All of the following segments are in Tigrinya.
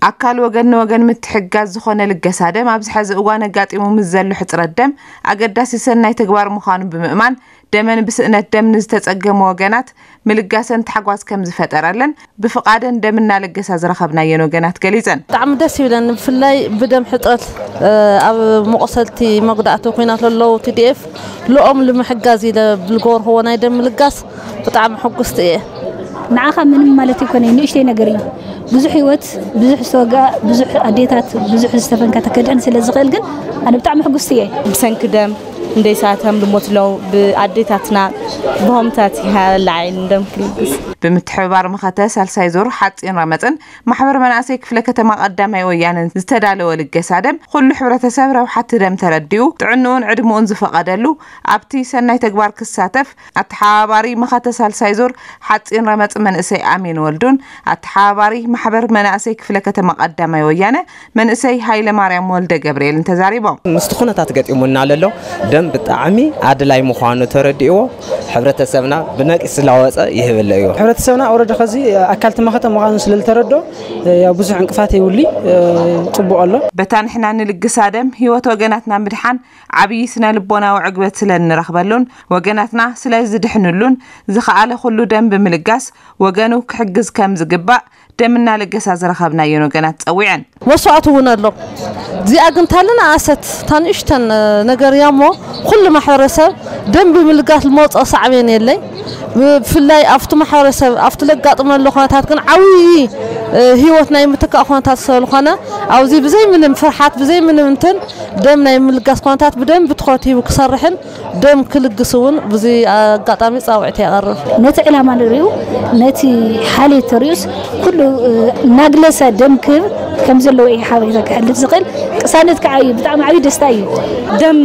ኣካል ወገን ንወገን ምትሕጋዝ ዝኾነ ልገሳ ደም ኣብዚ ሐዚ እዋን ኣጋጢሙ ምስ ዘሎ ሕፅረት ደም ኣገዳሲ ሰናይ ተግባር ምዃኑ ብምእማን፣ ደመን ብስእነት ደም ንዝተፀገሙ ወገናት ምልጋሰን ታሕጓስ ከም ዝፈጠረለን ብፍቓደን ደም እናለገሳ ዝረኸብናየን ወገናት ገሊፀን። ብጣዕሚ ደስ ይብለን። ብፍላይ ብደም ሕፅረት ኣብ መቑሰልቲ መጉዳእቲ ኩናት ለለዉ ቲ ዲ ኤፍ ልኦም ልምሕጋዝ ኢለ ብልገብርዎ ናይ ደም ምልጋስ ብጣዕሚ ሕጉስቲ እየ። ንዓኻ ምንም ማለት ይኮነ፣ ንእሽተይ ነገር እዩ። ብዙሕ ህይወት፣ ብዙሕ ዝተወግኣ፣ ብዙሕ ኣዴታት፣ ብዙሕ ዝተፈንከተ ከድሕን ስለ ዝኽእል ግን ኣነ ብጣዕሚ ሕጉስቲ እየ። ብሰንኪ ደም እንደይሳተም ልሞት ለው ብኣዴታትና ብሆምታት ይሃላ ዓይን ደም ክልግስ። ብምትሕብባር መኸተ ሳልሳይ ዙር ሓፂን ረመፅን ማሕበር መናእሰይ ክፍለ ከተማ ቀዳማይ ወያነን ዝተዳለወ ልገሳ ደም ኩሉ ሕብረተሰብ ረብሓቲ ደም ተረዲኡ ጥዕንኡን ዕድምኡን ዝፈቐደሉ ኣብቲ ሰናይ ተግባር ክሳተፍ ኣተሓባባሪ መኸተ ሳልሳይ ዙር ሓፂን ረመፅ መንእሰይ ኣሜን ወልዱን ኣተሓባባሪ ማሕበር መናእሰይ ክፍለ ከተማ ቀዳማይ ወያነ መንእሰይ ሃይለ ማርያም ወልደ ገብርኤልን ተዛሪቦም። ምስቲ ኩነታት ገጢሙና ለሎ ደም ብጣዕሚ ኣድላይ ምዃኑ ተረዲእዎ ሕብረተሰብና ብነቂስ ስላወፀ ይህብለ እዩ። ሕብረተሰብና ወረደ ከዚ ኣካል ተመኸተ ምዃኑ ስለ ዝተረዶ ያው ብዙሕ ዕንቅፋት የውሊ ጽቡቕ ኣሎ። በታ ንሕና ንልግሳ ደም ህይወት ወገናትና ምድሓን ዓብዪ ስነ ልቦናዊ ዕግበት ስለ እንረኽበሉን ወገናትና ስለ ዝድሕንሉን ዝኸኣለ ኩሉ ደም ብምልጋስ ወገኑ ክሕግዝ ከም ዝግባእ ደም እናለገሳ ዝረኸብናየን ወገናት ጸዊዐን። መስዋእቲ እውን ኣሎ። እዚኣ ግን ታልና ኣሰት ታንእሽተን ነገር እያ እሞ ኩሉ ማሕበረሰብ ደም ብምልጋስ ልመውፅኦ ሳዕቤን የለይ። ብፍላይ ኣብቲ ማሕበረሰብ ኣብቲ ለጋጥመሉ ኩነታት ግን ዓብዪ ህይወት ናይ ምትካእ ኩነታት ስለዝኾነ ኣብዚ ብዘይ ምንም ፍርሓት ብዘይ ምንም እንትን ደም ናይ ምልጋስ ኩነታት ብደንብ ትኹረት ሂቡ ክሰርሕን ደም ክልግስ እውን ብዚ ኣጋጣሚ ፃውዒት የቐርብ። ነቲ ዕላማ ንሪኡ ነቲ ሓልዮት ተሪኡስ ኩሉ እናግለሰ ደም ክህብ ከም ዘለዎ እዩ ሓበሬታ ክሕልፍ ዝኽእል። ቅሳነት ከዓ እዩ ብጣዕሚ ዓብዪ ደስታ እዩ። ደም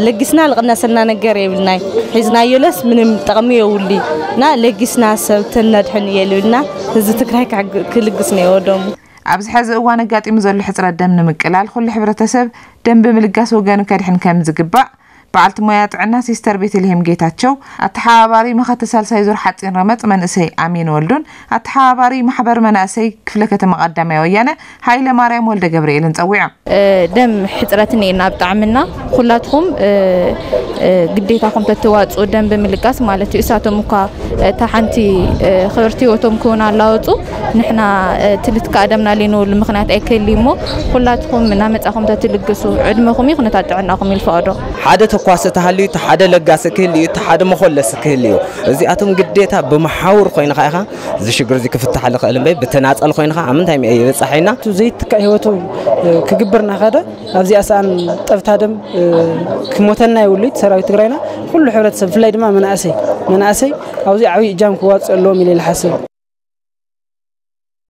ለጊስና ልቕነሰና ነገር የብልናይ። ሒዝናዮለስ ምንም ጠቕሚ የውሊ እና ለጊስና ሰብ ተነድሕን የልብልና። ህዝቢ ትግራይ ክልግስ ነይዎ ደሙ። ኣብዚ ሐዚ እዋን ኣጋጢሙ ዘሎ ሕፅረት ደም ንምቅላል ኩሉ ሕብረተሰብ ደም ብምልጋስ ወገኑ ከድሕን ከም ዝግባእ በዓልቲ ሞያ ጥዕና ሲስተር ቤተልሔም ጌታቸው፣ ኣተሓባባሪ መኸተ ሳልሳይ ዙር ሓፂን ረመፅ መንእሰይ ኣሜን ወልዱን ኣተሓባባሪ ማሕበር መናእሰይ ክፍለ ከተማ ቀዳማይ ወያነ ሃይለ ማርያም ወልደ ገብርኤልን ጸዊዖም። ደም ሕፅረት እኒኤና ብጣዕምና ኩላትኹም ግዴታኹም ተተዋፅኡ ደም ብምልጋስ ማለት እዩ። እሳቶም እኳ እታ ሓንቲ ክብርቲ ህይወቶም ክውን ኣላወፁ ንሕና ትልትካ ደምና ሊንውሉ ምክንያት ኣይክህሊ እሞ ኩላትኹም እናመፃኹም ተትልግሱ ዕድመኹም እዩ ኩነታት ጥዕናኹም ይልፈቐዶ። ሓደ ተኳሲ ተሃልዩ እቲ ሓደ ለጋሲ ክህል እዩ፣ እቲ ሓደ መኮለሲ ክህል እዩ። እዚኣቶም ግዴታ ብመሓውር ኮይንኻ ኢኻ እዚ ሽግር እዚ ክፍታሕ ዝኽእል እምበይ ብተናፀል ኮይንኻ ኣብ ምንታይ ይበፃሕ ኢና። ዘይትካእ ህይወቱ ክግብር እናኸደ ኣብዚኣ ሰኣን ጠብታ ደም ክሞተና የብሉይ ሰራዊት ትግራይና። ኩሉ ሕብረተሰብ ብፍላይ ድማ መናእሰይ መናእሰይ ኣብዚ ዓብዪ እጃም ክዋፅእ ኣለዎም ኢለ ይሓስብ።